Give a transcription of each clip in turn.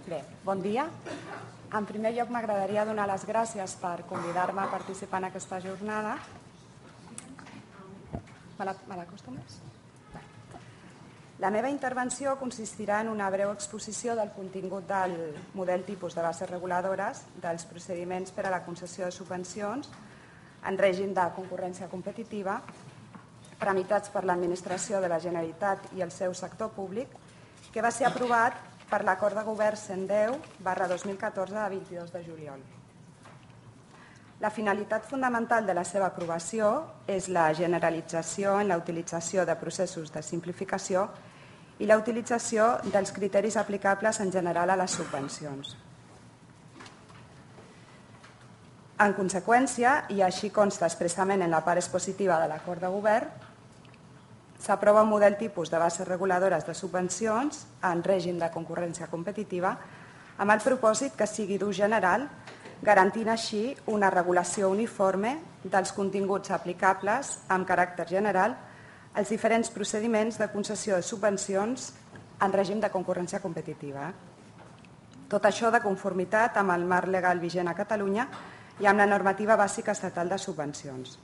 Bé, bon dia. En primer lloc m'agradaria donar les gràcies per convidar-me a participar en aquesta jornada. Me l'acosto més? La meva intervenció consistirà en una breu exposició del contingut del model tipus de bases reguladores dels procediments per a la concessió de subvencions en règim de concurrència competitiva tramitats per l'Administració de la Generalitat i el seu sector públic, que va ser aprovat per l'Acord de Govern 110/2014 de 22 de juliol. La finalitat fundamental de la seva aprovació és la generalització en la utilització de processos de simplificació i la utilització dels criteris aplicables en general a les subvencions. En conseqüència, i així consta expressament en la part expositiva de l'Acord de Govern, s'aprova un model tipus de bases reguladores de subvencions en règim de concurrència competitiva amb el propòsit que sigui d'ús general, garantint així una regulació uniforme dels continguts aplicables amb caràcter general als diferents procediments de concessió de subvencions en règim de concurrència competitiva. Tot això de conformitat amb el marc legal vigent a Catalunya i amb la normativa bàsica estatal de subvencions.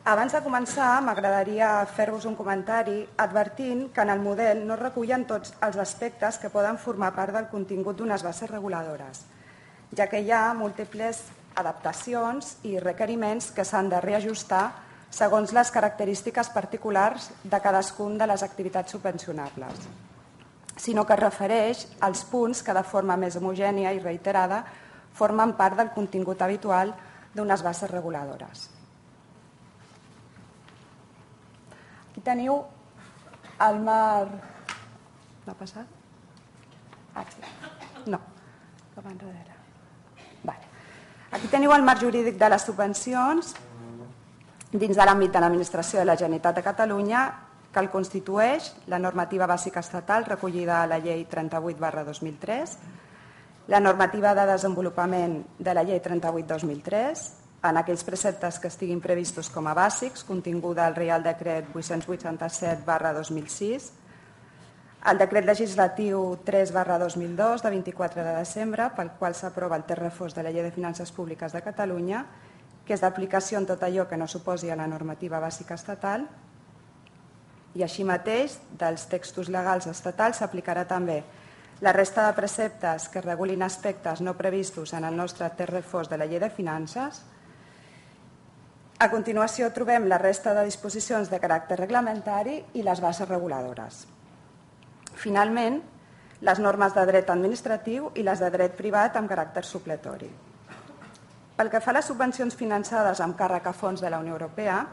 Abans de començar, m'agradaria fer-vos un comentari advertint que en el model no es recullen tots els aspectes que poden formar part del contingut d'unes bases reguladores, ja que hi ha múltiples adaptacions i requeriments que s'han de reajustar segons les característiques particulars de cadascun de les activitats subvencionables, sinó que es refereix als punts que de forma més homogènia i reiterada formen part del contingut habitual d'unes bases reguladores. Aquí teniu el marc... No ha passat? No, cap enrere. Aquí teniu el marc jurídic de les subvencions dins de l'àmbit de l'Administració de la Generalitat de Catalunya, que el constitueix la normativa bàsica estatal recollida a la Llei 38/2003, la normativa de desenvolupament de la Llei 38/2003, en aquells preceptes que estiguin previstos com a bàsics, continguda al Reial Decret 887/2006, el Decret Legislatiu 3/2002 de 24 de desembre, pel qual s'aprova el text refós de la Llei de Finances Públiques de Catalunya, que és d'aplicació en tot allò que no s'oposi a la normativa bàsica estatal, i així mateix, dels textos legals estatals s'aplicarà també la resta de preceptes que regulin aspectes no previstos en el nostre text refós de la Llei de Finances. A continuació trobem la resta de disposicions de caràcter reglamentari i les bases reguladores. Finalment, les normes de dret administratiu i les de dret privat amb caràcter supletori. Pel que fa a les subvencions finançades amb càrrec a fons de la Unió Europea,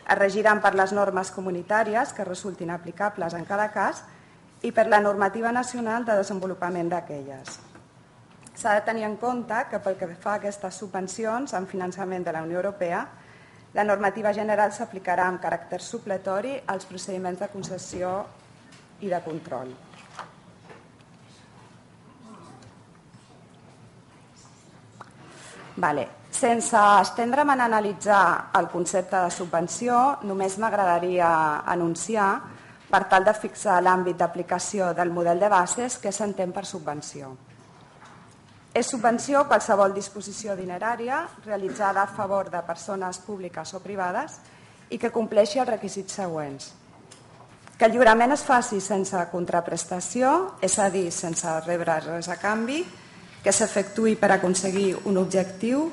es regiran per les normes comunitàries que resultin aplicables en cada cas i per la normativa nacional de desenvolupament d'aquelles. S'ha de tenir en compte que pel que fa a aquestes subvencions amb finançament de la Unió Europea, la normativa general s'aplicarà amb caràcter supletori als procediments de concessió i de control. Sense estendre'm en analitzar el concepte de subvenció, només m'agradaria anunciar, per tal de fixar l'àmbit d'aplicació del model de bases, que s'entén per subvenció. És subvenció qualsevol disposició dinerària realitzada a favor de persones públiques o privades i que compleixi els requisits següents. Que el lliurament es faci sense contraprestació, és a dir, sense rebre res a canvi, que s'efectuï per aconseguir un objectiu,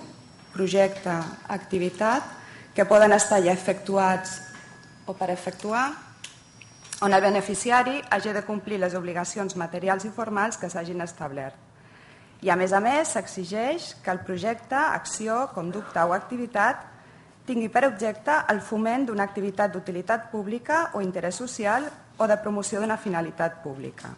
projecte, activitat, que poden estar ja efectuats o per efectuar, on el beneficiari hagi de complir les obligacions materials i formals que s'hagin establert. I a més, s'exigeix que el projecte, acció, conducta o activitat tingui per objecte el foment d'una activitat d'utilitat pública o interès social o de promoció d'una finalitat pública.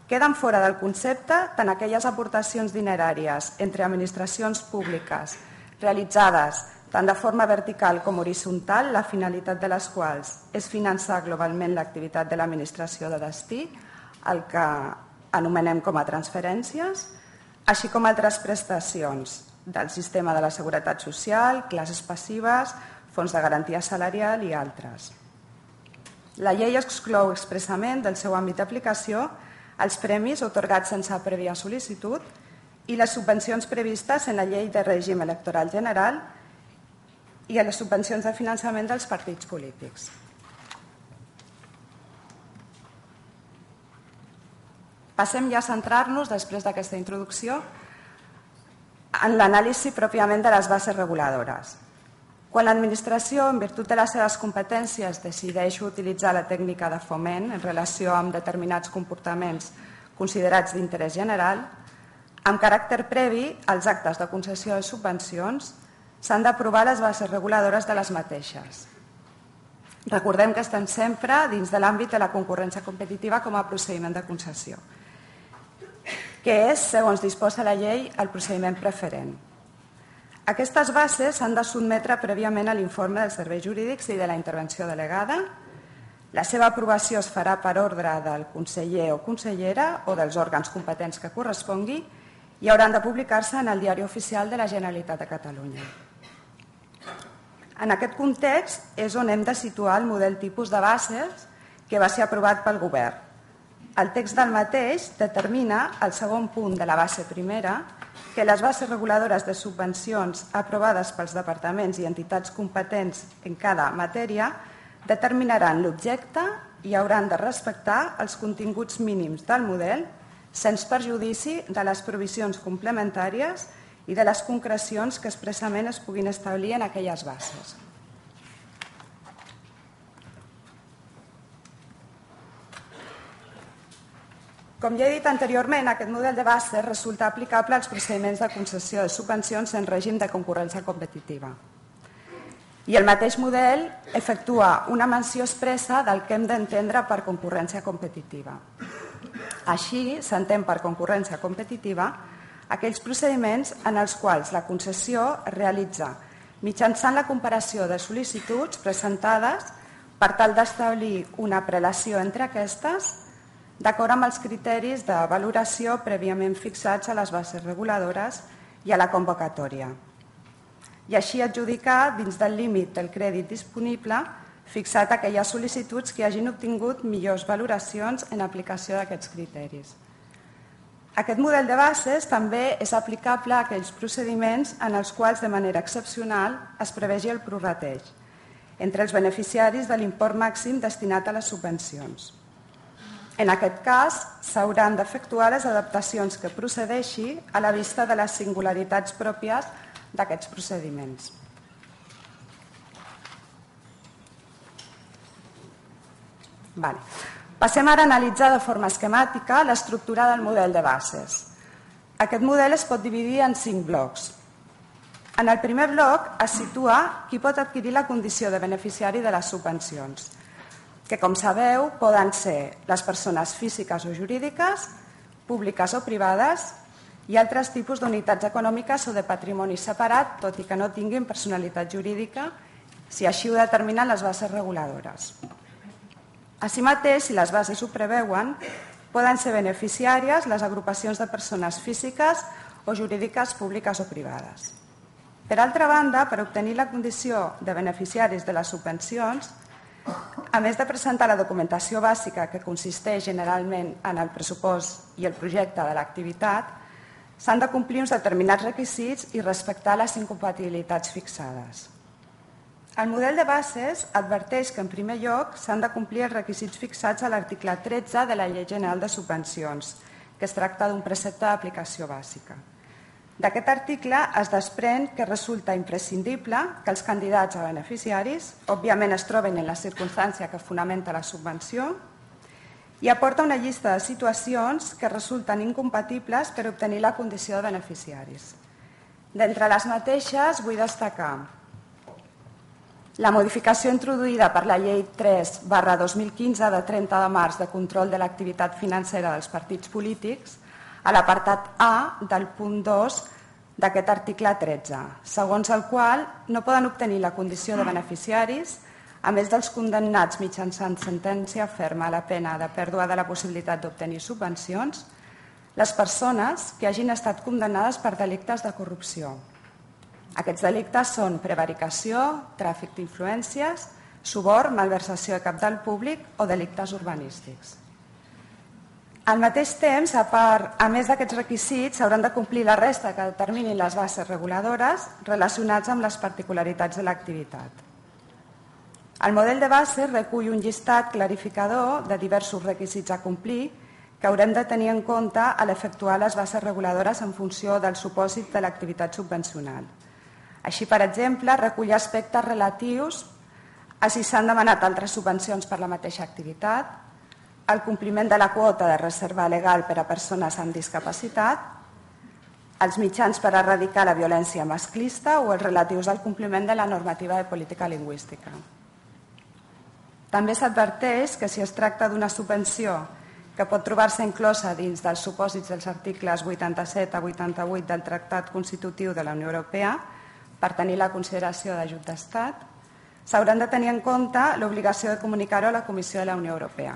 Queden fora del concepte tant aquelles aportacions dineràries entre administracions públiques realitzades tant de forma vertical com horitzontal, la finalitat de les quals és finançar globalment l'activitat de l'administració de destí, el que anomenem com a transferències, així com altres prestacions del sistema de la Seguretat Social, classes passives, fons de garantia salarial i altres. La llei exclou expressament del seu àmbit d'aplicació els premis atorgats sense prèvia sol·licitud i les subvencions previstes en la Llei de Règim Electoral General i a les subvencions de finançament dels partits polítics. Passem ja a centrar-nos, després d'aquesta introducció, en l'anàlisi pròpiament de les bases reguladores. Quan l'administració, en virtut de les seves competències, decideix utilitzar la tècnica de foment en relació amb determinats comportaments considerats d'interès general, amb caràcter previ als actes de concessió de subvencions, s'han d'aprovar les bases reguladores de les mateixes. Recordem que estan sempre dins de l'àmbit de la concurrència competitiva com a procediment de concessió, que és, segons disposa la llei, el procediment preferent. Aquestes bases s'han de sotmetre prèviament a l'informe dels serveis jurídics i de la intervenció delegada. La seva aprovació es farà per ordre del conseller o consellera o dels òrgans competents que correspongui i hauran de publicar-se en el Diari Oficial de la Generalitat de Catalunya. En aquest context és on hem de situar el model tipus de bases que va ser aprovat pel Govern. El text del mateix determina, al segon punt de la base primera, que les bases reguladores de subvencions aprovades pels departaments i entitats competents en cada matèria determinaran l'objecte i hauran de respectar els continguts mínims del model sense perjudici de les provisions complementàries i de les concrecions que expressament es puguin establir en aquelles bases. Com ja he dit anteriorment, aquest model de base resulta aplicable als procediments de concessió de subvencions en règim de concurrència competitiva. I el mateix model efectua una menció expressa del que hem d'entendre per concurrència competitiva. Així, s'entén per concurrència competitiva aquells procediments en els quals la concessió es realitza mitjançant la comparació de sol·licituds presentades per tal d'establir una prelació entre aquestes d'acord amb els criteris de valoració prèviament fixats a les bases reguladores i a la convocatòria, i així adjudicar dins del límit del crèdit disponible fixat aquelles sol·licituds que hagin obtingut millors valoracions en aplicació d'aquests criteris. Aquest model de bases també és aplicable a aquells procediments en els quals de manera excepcional es prevegi el prorrateig entre els beneficiaris de l'import màxim destinat a les subvencions. En aquest cas, s'hauran d'efectuar les adaptacions que procedeixi a la vista de les singularitats pròpies d'aquests procediments. Passem ara a analitzar de forma esquemàtica l'estructura del model de bases. Aquest model es pot dividir en 5 blocs. En el primer bloc es situa qui pot adquirir la condició de beneficiari de les subvencions, que, com sabeu, poden ser les persones físiques o jurídiques, públiques o privades i altres tipus d'unitats econòmiques o de patrimoni separat, tot i que no tinguin personalitat jurídica, si així ho determinen les bases reguladores. Així mateix, si les bases ho preveuen, poden ser beneficiàries les agrupacions de persones físiques o jurídiques públiques o privades. Per altra banda, per obtenir la condició de beneficiaris de les subvencions, a més de presentar la documentació bàsica que consisteix generalment en el pressupost i el projecte de l'activitat, s'han de complir uns determinats requisits i respectar les incompatibilitats fixades. El model de bases adverteix que, en primer lloc, s'han de complir els requisits fixats a l'article 13 de la Llei General de Subvencions, que es tracta d'un precepte d'aplicació bàsica. D'aquest article es desprèn que resulta imprescindible que els candidats a beneficiaris, òbviament es troben en la circumstància que fonamenta la subvenció, i aporta una llista de situacions que resulten incompatibles per obtenir la condició de beneficiaris. D'entre les mateixes vull destacar la modificació introduïda per la Llei 3/2015 de 30 de març de control de l'activitat financera dels partits polítics a l'apartat A del punt 2 d'aquest article 13, segons el qual no poden obtenir la condició de beneficiaris, a més dels condemnats mitjançant sentència ferma a la pena de pèrdua de la possibilitat d'obtenir subvencions, les persones que hagin estat condemnades per delictes de corrupció. Aquests delictes són prevaricació, tràfic Al mateix temps, a més d'aquests requisits, s'hauran de complir la resta que determinin les bases reguladores relacionats amb les particularitats de l'activitat. El model de bases recull un llistat clarificador de diversos requisits a complir que haurem de tenir en compte a l'efectuar les bases reguladores en funció del supòsit de l'activitat subvencional. Així, per exemple, recull aspectes relatius a si s'han demanat altres subvencions per la mateixa activitat, el compliment de la quota de reserva legal per a persones amb discapacitat, els mitjans per erradicar la violència masclista o els relatius al compliment de la normativa de política lingüística. També s'adverteix que si es tracta d'una subvenció que pot trobar-se inclosa dins dels supòsits dels articles 87 a 88 del Tractat Constitutiu de la Unió Europea per tenir la consideració d'ajut d'Estat, s'hauran de tenir en compte l'obligació de comunicar-ho a la Comissió de la Unió Europea.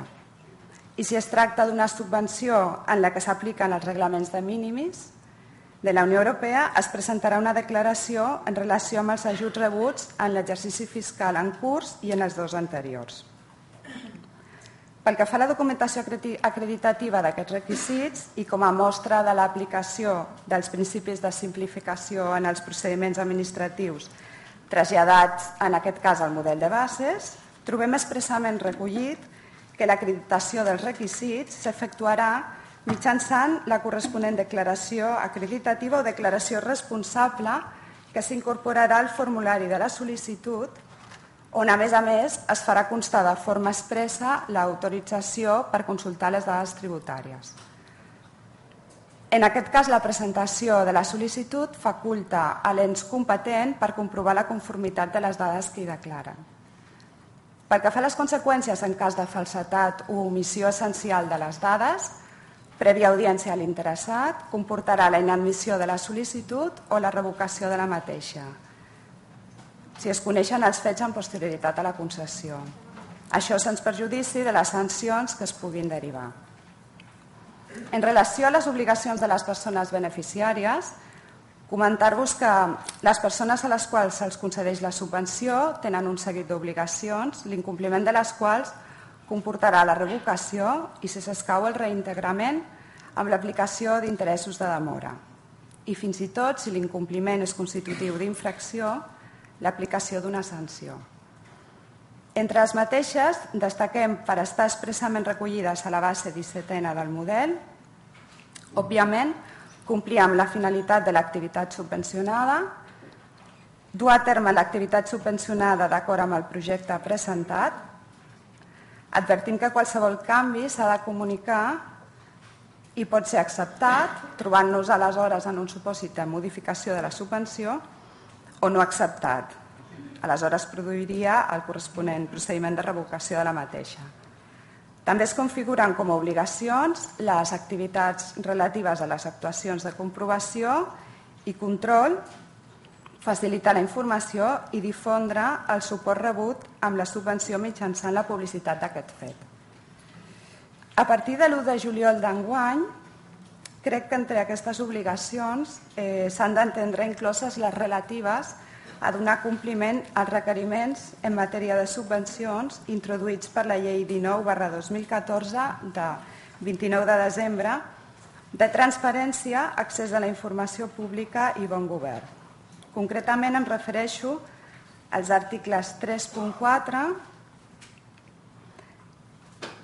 I si es tracta d'una subvenció en la que s'apliquen els reglaments de mínimis de la Unió Europea, es presentarà una declaració en relació amb els ajuts rebuts en l'exercici fiscal en curs i en els dos anteriors. Pel que fa a la documentació acreditativa d'aquests requisits i com a mostra de l'aplicació dels principis de simplificació en els procediments administratius traslladats, en aquest cas, al model de bases, trobem expressament recollit que l'acreditació dels requisits s'efectuarà mitjançant la corresponent declaració acreditativa o declaració responsable que s'incorporarà al formulari de la sol·licitud, on, a més, es farà constar de forma expressa l'autorització per consultar les dades tributàries. En aquest cas, la presentació de la sol·licitud faculta a l'ens competent per comprovar la conformitat de les dades que hi declaren. Pel que fa a les conseqüències en cas de falsedat o omissió essencial de les dades, prèvia audiència a l'interessat, comportarà la inadmissió de la sol·licitud o la revocació de la mateixa, si es coneixen els fets amb posterioritat a la concessió. Això sens perjudici de les sancions que es puguin derivar. En relació a les obligacions de les persones beneficiàries, comentar-vos que les persones a les quals se'ls concedeix la subvenció tenen un seguit d'obligacions, l'incompliment de les quals comportarà la revocació i, si s'escau, el reintegrament amb l'aplicació d'interessos de demora. I fins i tot, si l'incompliment és constitutiu d'infracció, l'aplicació d'una sanció. Entre les mateixes, destaquem per estar expressament recollides a la base 17a del model, òbviament, complir amb la finalitat de l'activitat subvencionada, dur a terme l'activitat subvencionada d'acord amb el projecte presentat, advertim que qualsevol canvi s'ha de comunicar i pot ser acceptat, trobant-nos aleshores en un supòsit de modificació de la subvenció, o no acceptat. Aleshores produiria el corresponent procediment de revocació de la mateixa. També es configuren com a obligacions les activitats relatives a les actuacions de comprovació i control, facilitar la informació i difondre el suport rebut amb la subvenció mitjançant la publicitat d'aquest fet. A partir de l'1 de juliol d'enguany, crec que entre aquestes obligacions s'han d'entendre incloses les relatives a donar compliment als requeriments en matèria de subvencions introduïts per la Llei 19/2014 de 29 de desembre de transparència, accés a la informació pública i bon govern. Concretament em refereixo als articles 3.4,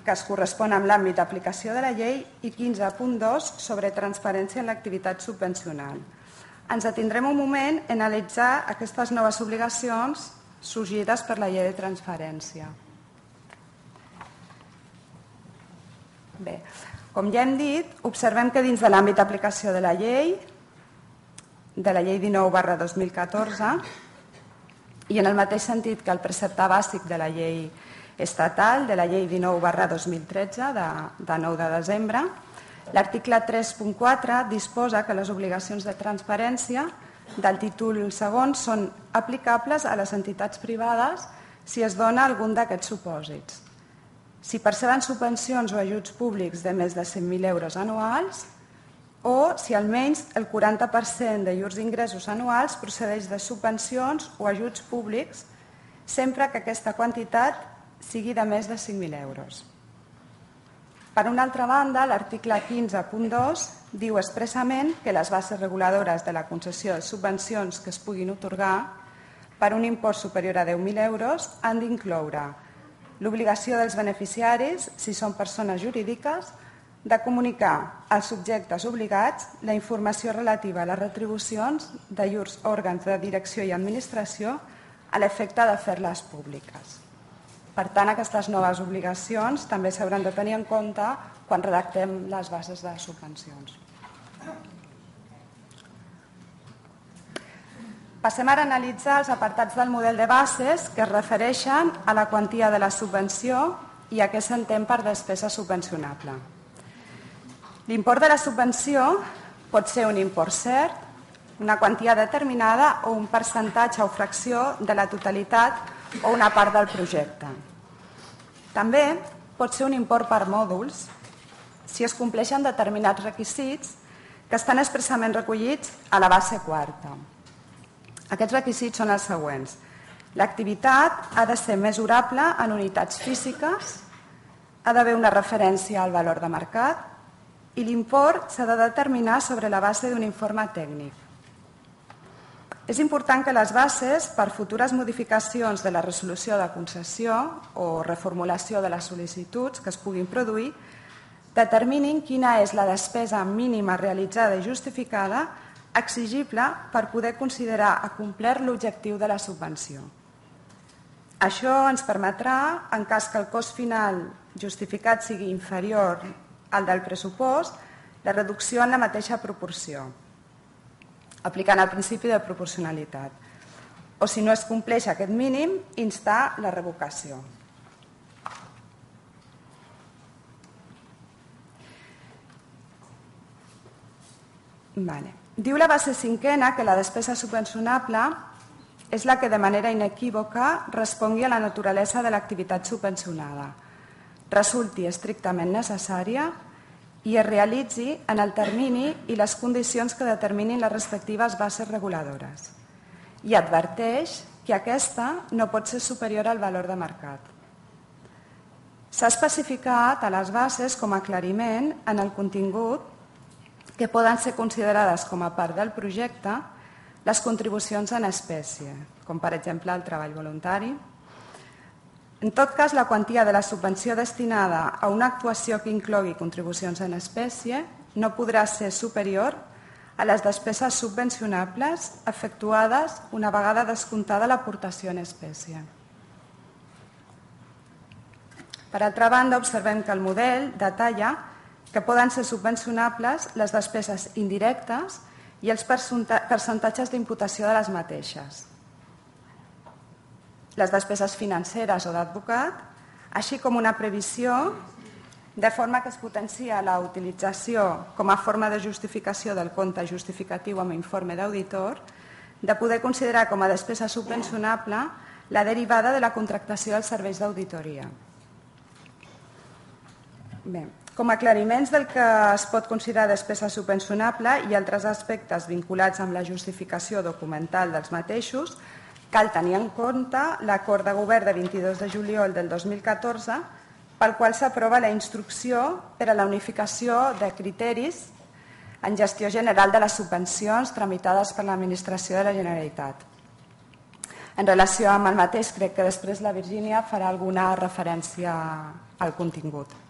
que es correspon amb l'àmbit d'aplicació de la llei, i 15.2 sobre transparència en l'activitat subvencional. Ens atindrem un moment en analitzar aquestes noves obligacions sorgides per la llei de transparència. Bé, com ja hem dit, observem que dins de l'àmbit d'aplicació de la llei 19/2014, i en el mateix sentit que el precepte bàsic de la llei estatal, de la llei 19/2013, de 9 de desembre, l'article 3.4 disposa que les obligacions de transparència del títol segon són aplicables a les entitats privades si es dona algun d'aquests supòsits. Si perceben subvencions o ajuts públics de més de 100.000 euros anuals, o si almenys el 40% de llurs ingressos anuals procedeix de subvencions o ajuts públics, sempre que aquesta quantitat sigui de més de 5.000 euros. Per una altra banda, l'article 15.2 diu expressament que les bases reguladores de la concessió de subvencions que es puguin atorgar per un import superior a 10.000 euros han d'incloure l'obligació dels beneficiaris, si són persones jurídiques, de comunicar als subjectes obligats la informació relativa a les retribucions de llurs òrgans de direcció i administració a l'efecte de fer-les públiques. Per tant, aquestes noves obligacions també s'hauran de tenir en compte quan redactem les bases de subvencions. Passem ara a analitzar els apartats del model de bases que es refereixen a la quantia de la subvenció i a què s'entén per despesa subvencionable. L'import de la subvenció pot ser un import cert, una quantia determinada o un percentatge o fracció de la totalitat o una part del projecte. També pot ser un import per mòduls si es compleixen determinats requisits que estan expressament recollits a la base quarta. Aquests requisits són els següents. L'activitat ha de ser mesurable en unitats físiques, ha d'haver una referència al valor de mercat i l'import s'ha de determinar sobre la base d'un informe tècnic. És important que les bases, per futures modificacions de la resolució de concessió o reformulació de les sol·licituds que es puguin produir, determinin quina és la despesa mínima realitzada i justificada exigible per poder considerar complert l'objectiu de la subvenció. Això ens permetrà, en cas que el cost final justificat sigui inferior al del pressupost, la reducció en la mateixa proporció, aplicant el principi de proporcionalitat. O si no es compleix aquest mínim, instar la revocació. Diu la base cinquena que la despesa subvencionable és la que de manera inequívoca respongui a la naturalesa de l'activitat subvencionada, resulti estrictament necessària i es realitzi en el termini i les condicions que determinin les respectives bases reguladores. I adverteix que aquesta no pot ser superior al valor de mercat. S'ha especificat a les bases com a aclariment en el contingut que poden ser considerades com a part del projecte les contribucions en espècie, com per exemple el treball voluntari. En tot cas, la quantia de la subvenció destinada a una actuació que inclogui contribucions en espècie no podrà ser superior a les despeses subvencionables efectuades una vegada descomptada l'aportació en espècie. Per altra banda, observem que el model detalla que poden ser subvencionables les despeses indirectes i els percentatges d'imputació de les mateixes, les despeses financeres o d'advocat, així com una previsió de forma que es potencia la utilització com a forma de justificació del compte justificatiu amb informe d'auditor, de poder considerar com a despesa subvencionable la derivada de la contractació dels serveis d'auditoria. Bé, com a aclariments del que es pot considerar despesa subvencionable i altres aspectes vinculats amb la justificació documental dels mateixos, cal tenir en compte l'acord de govern de 22 de juliol del 2014 pel qual s'aprova la instrucció per a la unificació de criteris en gestió general de les subvencions tramitades per l'Administració de la Generalitat. En relació amb el mateix, crec que després la Virgínia farà alguna referència al contingut.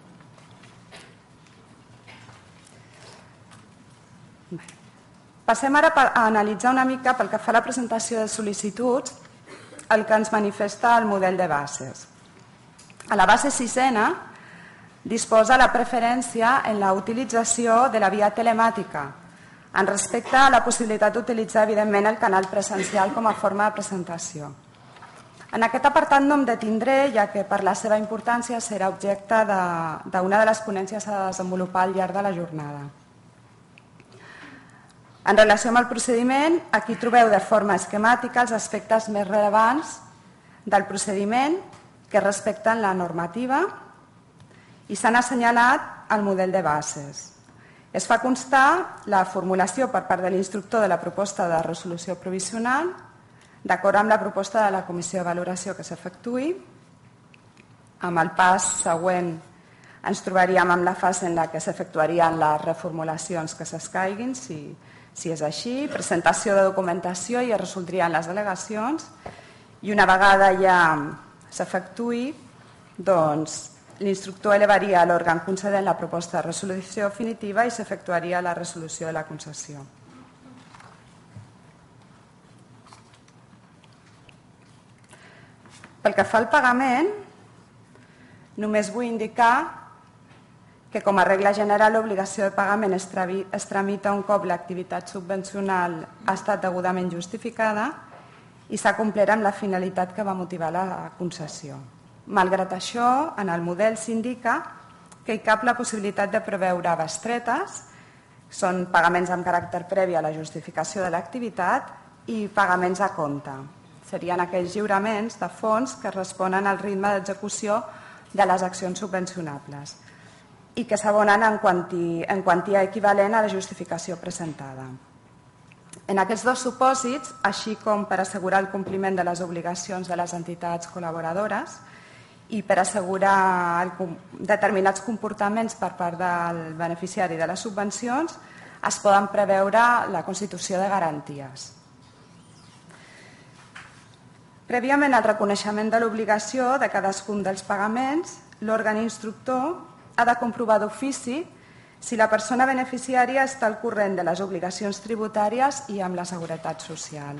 Passem ara a analitzar una mica, pel que fa a la presentació de sol·licituds, el que ens manifesta el model de bases. A la base sisena disposa la preferència en la utilització de la via telemàtica, en respecte a la possibilitat d'utilitzar, evidentment, el canal presencial com a forma de presentació. En aquest apartat no em detindré, ja que per la seva importància serà objecte d'una de les ponències a desenvolupar al llarg de la jornada. En relació amb el procediment, aquí trobeu de forma esquemàtica els aspectes més rellevants del procediment que respecten la normativa i s'han assenyalat el model de bases. Es fa constar la formulació per part de l'instructor de la proposta de resolució provisional, d'acord amb la proposta de la comissió de valoració que s'efectuï, amb el pas següent Ens trobaríem amb la fase en la que s'efectuarien les reformulacions que s'escaiguin, si és així, presentació de documentació i es resoldrien les delegacions, i una vegada ja s'efectuï, doncs l'instructor elevaria a l'òrgan concedent la proposta de resolució definitiva i s'efectuaria la resolució de la concessió. Pel que fa al pagament, només vull indicar que com a regla general l'obligació de pagament es tramita un cop l'activitat subvencional ha estat degudament justificada i s'ha complert amb la finalitat que va motivar la concessió. Malgrat això, en el model s'indica que hi cap la possibilitat de preveure bestretes, són pagaments amb caràcter previ a la justificació de l'activitat, i pagaments a compte. Serien aquells lliuraments de fons que responen al ritme d'execució de les accions subvencionables i que s'abonen en quantia equivalent a la justificació presentada. En aquests dos supòsits, així com per assegurar el compliment de les obligacions de les entitats col·laboradores i per assegurar determinats comportaments per part del beneficiari de les subvencions, es poden preveure la constitució de garanties. Prèviament al reconeixement de l'obligació de cadascun dels pagaments, l'òrgan instructor ha de comprovar d'ofici si la persona beneficiària està al corrent de les obligacions tributàries i amb la seguretat social.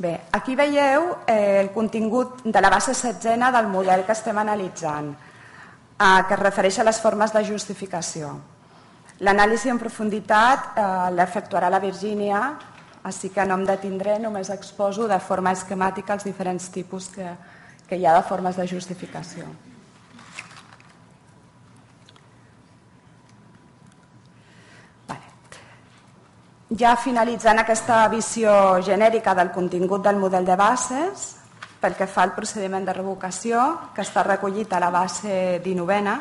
Bé, aquí veieu el contingut de la base setzena del model que estem analitzant, que es refereix a les formes de justificació. L'anàlisi en profunditat l'efectuarà la Virgínia, així que no em detindré, només exposo de forma esquemàtica els diferents tipus que hi ha de formes de justificació. Ja finalitzant aquesta visió genèrica del contingut del model de bases, pel que fa al procediment de revocació, que està recollit a la base 19a,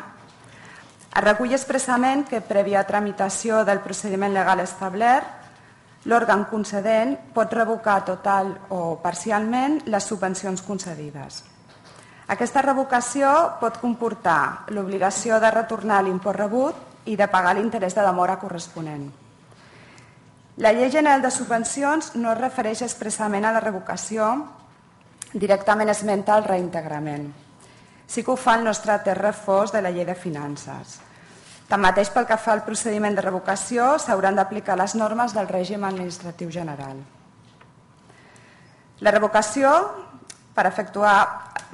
es recull expressament que, prèvia tramitació del procediment legal establert, l'òrgan concedent pot revocar total o parcialment les subvencions concedides. Aquesta revocació pot comportar l'obligació de retornar l'import rebut i de pagar l'interès de demora corresponent. La Llei General de Subvencions no es refereix expressament a la revocació, directament esmenta el reintegrament. Sí que ho fa el nostre text refós de la Llei de Finances. Tanmateix, pel que fa al procediment de revocació, s'hauran d'aplicar les normes del règim administratiu general. La revocació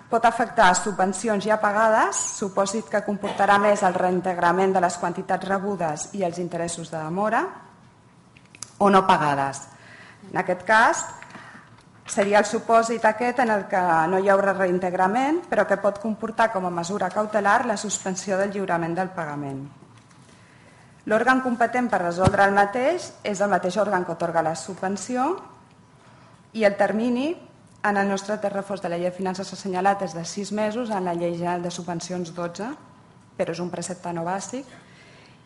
pot afectar subvencions ja pagades, supòsit que comportarà més el reintegrament de les quantitats rebudes i els interessos de demora, o no pagades. En aquest cas, seria el supòsit aquest en el que no hi haurà reintegrament, però que pot comportar com a mesura cautelar la suspensió del lliurament del pagament. L'òrgan competent per resoldre el mateix és el mateix òrgan que atorga la subvenció i el termini en el nostre text refós de la Llei de Finances assenyalat és de 6 mesos, en la Llei General de Subvencions 12, però és un precepte no bàsic,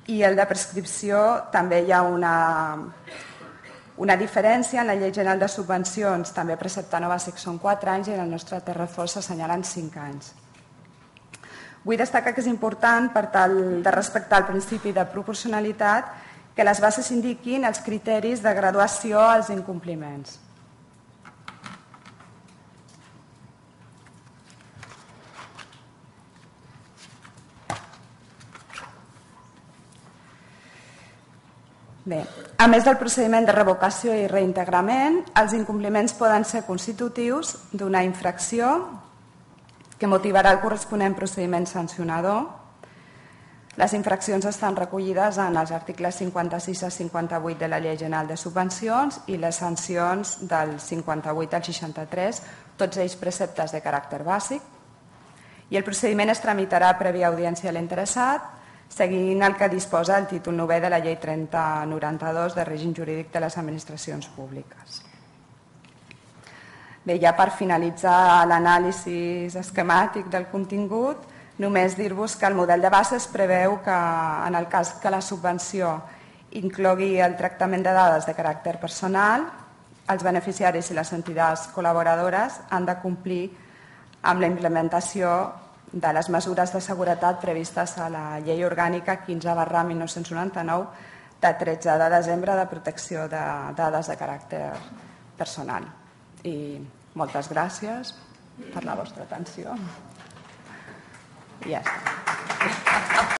i el de prescripció també hi ha una diferència. En la Llei General de Subvencions també precepte no bàsic són 4 anys i en el nostre text refós s'assenyalen 5 anys. Vull destacar que és important, per tal de respectar el principi de proporcionalitat, que les bases indiquin els criteris de graduació als incompliments. Bé, a més del procediment de revocació i reintegrament, els incompliments poden ser constitutius d'una infracció que motivarà el corresponent procediment sancionador. Les infraccions estan recollides en els articles 56 a 58 de la Llei General de Subvencions i les sancions del 58 al 63, tots ells preceptes de caràcter bàsic. I el procediment es tramitarà prèvia audiència a l'interessat, seguint el que disposa el títol 9è de la Llei 3092 de règim jurídic de les administracions públiques. Bé, ja per finalitzar l'anàlisi esquemàtic del contingut, només dir-vos que el model de bases preveu que en el cas que la subvenció inclogui el tractament de dades de caràcter personal, els beneficiaris i les entitats col·laboradores han de complir amb la implementació de les mesures de seguretat previstes a la Llei Orgànica 15/1999 de 13 de desembre de protecció de dades de caràcter personal. I moltes gràcies per la vostra atenció. I ja està.